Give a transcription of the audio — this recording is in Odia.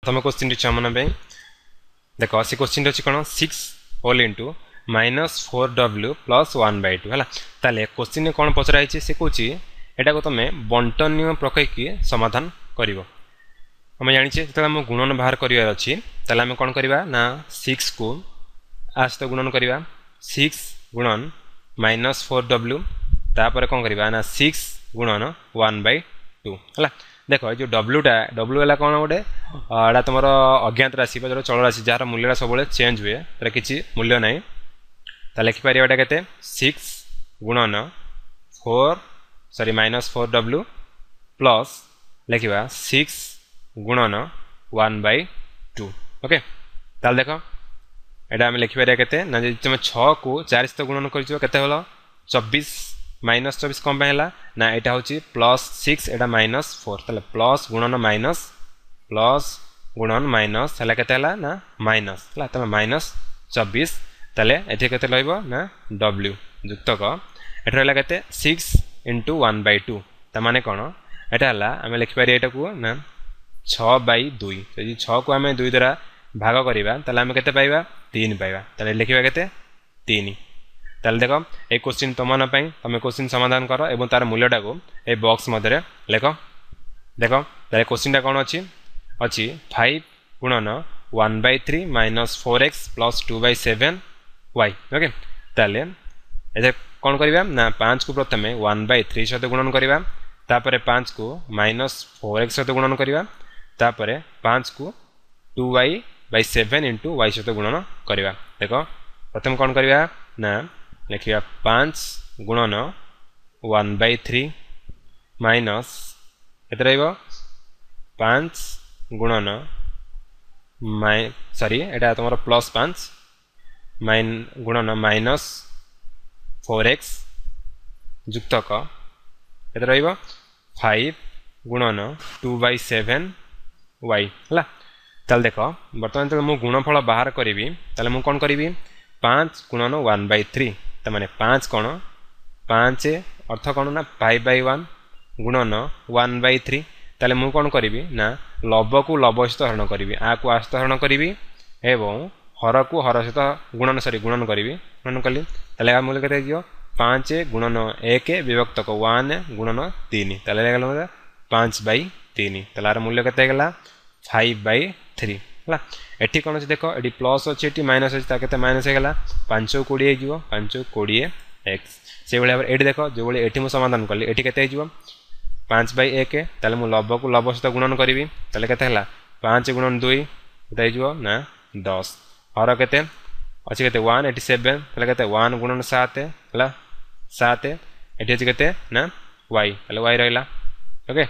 ପ୍ରଥମ କୋଶ୍ଚିନ୍ଟି ଛୁଆମାନଙ୍କ ପାଇଁ ଦେଖ। ସେ କୋଶ୍ଚିନ୍ଟି ଅଛି କ'ଣ? Six whole into minus four W plus one by two ହେଲା। ତାହେଲେ କୋଶ୍ଚିନ୍ରେ କ'ଣ ପଚରା ହେଇଛି? ସେ କହୁଛି ଏଟାକୁ ତୁମେ ବଣ୍ଟନ ନିୟମ ପକାଇକି ସମାଧାନ କରିବ। ଆମେ ଜାଣିଛେ, ଯେତେବେଳେ ଆମ ଗୁଣନ ବାହାର କରିବାର ଅଛି, ତାହେଲେ ଆମେ କ'ଣ କରିବା ନା ସିକ୍ସକୁ ଆ ସହିତ ଗୁଣନ କରିବା, ସିକ୍ସ ଗୁଣନ ମାଇନସ୍ ଫୋର୍ ଡବ୍ଲ୍ୟୁ। ତାପରେ କ'ଣ କରିବା ନା ସିକ୍ସ ଗୁଣନ ୱାନ୍ ବାଇ ଟୁ ହେଲା। ଦେଖ, ଏଇ ଯେଉଁ ଡବ୍ଲ୍ୟୁଟା, ଡବ୍ଲ୍ୟୁ ହେଲା କ'ଣ ଗୋଟେ, ଏଇଟା ତୁମର ଅଜ୍ଞାତ ରାଶି ବା ଯେଉଁଟା ଚଳରାଶି, ଯାହାର ମୂଲ୍ୟଟା ସବୁବେଳେ ଚେଞ୍ଜ ହୁଏ, ତାର କିଛି ମୂଲ୍ୟ ନାହିଁ। ତାହେଲେ ଲେଖିପାରିବା ଏଇଟା କେତେ? ସିକ୍ସ ଗୁଣନ four, sorry, minus four W plus ଲେଖିବା ସିକ୍ସ ଗୁଣନ ୱାନ୍ ବାଇ ଟୁ। ଓକେ, ତାହେଲେ ଦେଖ, ଏଇଟା ଆମେ ଲେଖିପାରିବା କେତେ ନା ଯଦି ତୁମେ ଛଅକୁ ଚାରି ସହିତ ଗୁଣନ କରିଯିବ, କେତେ ହେଲା? 24। ମାଇନସ୍ 24 କ'ଣ ପାଇଁ ହେଲା ନା ଏଇଟା ହେଉଛି ପ୍ଲସ୍ ସିକ୍ସ, ଏଇଟା ମାଇନସ୍ ଫୋର୍। ତାହେଲେ ପ୍ଲସ୍ ଗୁଣନ ମାଇନସ୍, ପ୍ଲସ୍ ଗୁଣନ ମାଇନସ୍ ହେଲା କେତେ ହେଲା ନା ମାଇନସ୍ ହେଲା। ତାହେଲେ ମାଇନସ୍ 24। ତାହେଲେ ଏଠି କେତେ ରହିବ ନା ଡବ୍ଲ୍ୟୁ ଯୁକ୍ତକ ଏଠି ରହିଲା କେତେ? Six into one by two. ତା ମାନେ କ'ଣ ଏଇଟା ହେଲା? ଆମେ ଲେଖିପାରିବା ଏଇଟାକୁ ନା ଛଅ ବାଇ ଦୁଇ। ଯଦି ଛଅକୁ ଆମେ ଦୁଇ ଦ୍ୱାରା ଭାଗ କରିବା, ତାହେଲେ ଆମେ କେତେ ପାଇବା? ତିନି ପାଇବା। ତାହେଲେ ଲେଖିବା କେତେ? ତିନି। ତାହେଲେ ଦେଖ, ଏଇ କୋଶ୍ଚିନ୍ ତୁମମାନଙ୍କ ପାଇଁ। ତୁମେ କୋଶ୍ଚିନ୍ ସମାଧାନ କର ଏବଂ ତାର ମୂଲ୍ୟଟାକୁ ଏଇ ବକ୍ସ ମଧ୍ୟରେ ଲେଖ। ଦେଖ, ତାହେଲେ କୋଶ୍ଚିନ୍ଟା କ'ଣ ଅଛି? ଅଛି five ଗୁଣନ one by three minus four X plus two by seven Y. Okay, ତାହେଲେ ଏଥିରେ କ'ଣ କରିବା ନା ପାଞ୍ଚକୁ ପ୍ରଥମେ ୱାନ୍ ବାଇ ଥ୍ରୀ ସହିତ ଗୁଣନ କରିବା, ତାପରେ ପାଞ୍ଚକୁ ମାଇନସ୍ ଫୋର୍ ଏକ୍ସ ସହିତ ଗୁଣନ କରିବା, ତାପରେ ପାଞ୍ଚକୁ two Y by seven into Y ସହିତ ଗୁଣନ କରିବା। ଦେଖ, ପ୍ରଥମେ କ'ଣ କରିବା ନା ଲେଖିବା ପାଞ୍ଚ ଗୁଣନ ୱାନ୍ ବାଇ ଥ୍ରୀ ମାଇନସ୍ କେତେ ରହିବ? ପାଞ୍ଚ ଗୁଣନ ମାଇ, ସରି, ଏଇଟା ତୁମର ପ୍ଲସ୍ ପାଞ୍ଚ ମାଇନ ଗୁଣନ ମାଇନସ୍ ଫୋର୍ ଏକ୍ସ ଯୁକ୍ତକ କେତେ ରହିବ? ଫାଇଭ୍ ଗୁଣନ ଟୁ ବାଇ ସେଭେନ୍ ୱାଇ ହେଲା। ତାହେଲେ ଦେଖ, ବର୍ତ୍ତମାନ ଯେତେବେଳେ ମୁଁ ଗୁଣଫଳ ବାହାର କରିବି, ତାହେଲେ ମୁଁ କ'ଣ କରିବି? ପାଞ୍ଚ ଗୁଣନ ୱାନ୍ ବାଇ ଥ୍ରୀ, ତାମାନେ ପାଞ୍ଚ କ'ଣ? ପାଞ୍ଚ ଅର୍ଥ କ'ଣ ନା ଫାଇଭ୍ ବାଇ ୱାନ୍ ଗୁଣନ ୱାନ୍ ବାଇ ଥ୍ରୀ। ତାହେଲେ ମୁଁ କ'ଣ କରିବି ନା ଲବକୁ ଲବ ସହିତ ହରଣ କରିବି, ଆକୁ ଆ ସହିତ ହରଣ କରିବି ଏବଂ ହରକୁ ହର ସହିତ ଗୁଣନ, ସରି, ଗୁଣନ କରିବି। ଗୁଣନ କଲି, ତାହେଲେ ଏହା ମୂଲ୍ୟ କେତେ ହେଇଯିବ? ପାଞ୍ଚ ଗୁଣନ ଏକ ବିଭକ୍ତକ ୱାନ୍ ଗୁଣନ ତିନି। ତାହେଲେ ହେଇଗଲା ପାଞ୍ଚ ବାଇ ତିନି। ତାହେଲେ ଆର ମୂଲ୍ୟ କେତେ ହେଇଗଲା? ଫାଇଭ୍ ବାଇ ଥ୍ରୀ ହେଲା। ଏଠି କ'ଣ ଅଛି ଦେଖ, ଏଠି ପ୍ଲସ୍ ଅଛି, ଏଠି ମାଇନସ୍ ଅଛି, ତା କେତେ ମାଇନସ୍ ହେଇଗଲା? ପାଞ୍ଚ 20 ହେଇଯିବ, ପାଞ୍ଚ 20 ଏକ୍ସ। ସେଇଭଳି ଭାବରେ ଏଠି ଦେଖ, ଯେଉଁଭଳି ଏଠି ମୁଁ ସମାଧାନ କଲି, ଏଠି କେତେ ହେଇଯିବ? ପାଞ୍ଚ ବାଇ ଏକ। ତାହେଲେ ମୁଁ ଲବକୁ ଲବ ସହିତ ଗୁଣନ କରିବି। ତାହେଲେ କେତେ ହେଲା? ପାଞ୍ଚ ଗୁଣନ ଦୁଇ କେତେ ହେଇଯିବ ନା 10। ହର କେତେ ଅଛି? କେତେ? ୱାନ୍, ଏଠି ସେଭେନ୍। ତାହେଲେ କେତେ? ୱାନ୍ ଗୁଣନ ସାତ ହେଲା ସାତ। ଏଠି ଅଛି କେତେ ନା ୱାଇ, ତାହେଲେ ୱାଇ ରହିଲା। ଓକେ।